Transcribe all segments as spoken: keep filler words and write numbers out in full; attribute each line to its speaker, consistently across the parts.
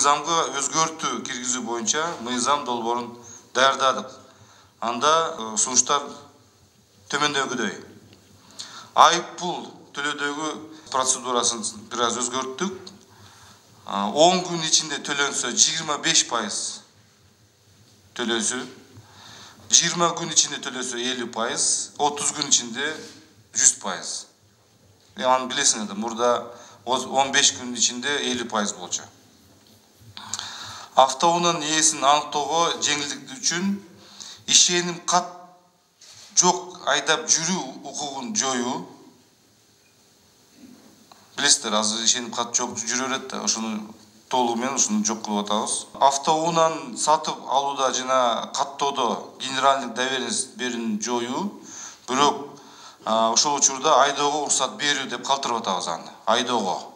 Speaker 1: мыйзамга өзгөртүү киргизүү боюнча мыйзам долбоорун даярдадык. Анда сунуштар төмөндөгүдөй. Айып пул төлөөдөгү процедурасын бир аз өзгөрттүк. он күн ичинде төлөнсө жыйырма беш пайыз төлөсү, жыйырма күн ичинде төлөсө элүү пайыз, отуз күн ичинде жүз пайыз. Аны билесиңер да, мурда он беш күн ичинде элүү пайыз болчу. Автоунаанын ээсин аныктоого жеңилдик үчүн ишеним кат жок айдап жүрүү укугун жоюу. Билесиздер, азыр ишеним кат жок жүрө берет да, ошону толугу менен ушуну жок кылып атабыз. Автоунааны сатып алууда жана каттоодо генеральный доверенность берүүнү жоюу, бирок ошол учурда айдоого уруксат берүү деп калтырып атабыз аны. Айдоого.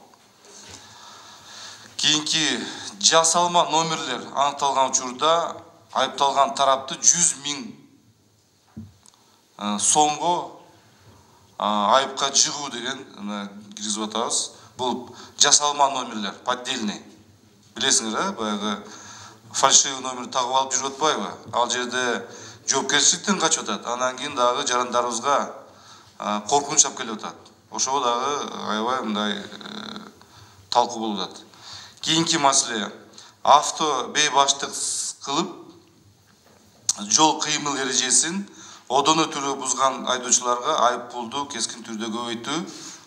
Speaker 1: Кийинки жасалма номерлер аныкталган учурда айыпталган тарапты жүз миң сомго айыпка жыгуу деген киргизип атабыз. Бул жасалма номерлер, поддельный. Билесиңер да, баягы фальшивый номер тагып алып жүрүп атпайбы? Ал жерде жоопкерчиликтен качып атат. Анан кийин дагы жарандарыбызга коркунуч алып келип атат. Ошого дагы аябай мындай талкуу болуп атат. Кийинки маселе, авто бейбаштык кылып жол кыймыл эрежесин одон өтүүрү бузган айдоочуларга айып пулду кескин түрдө көбөйтүү.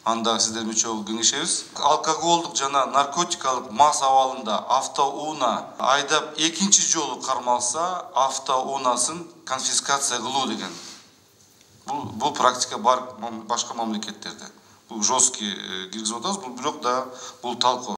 Speaker 1: Анда сиздер менен чогуу кеңешебиз. Алкоголдук жана наркотикалык мас абалында автоунаа айдап экинчи жолу кармалса, автоунаасын конфискация кылуу деген. Бул бул практика бар башка мамлекеттерде. Бул жесткий киргизип атабыз, бирок да бул талкуу.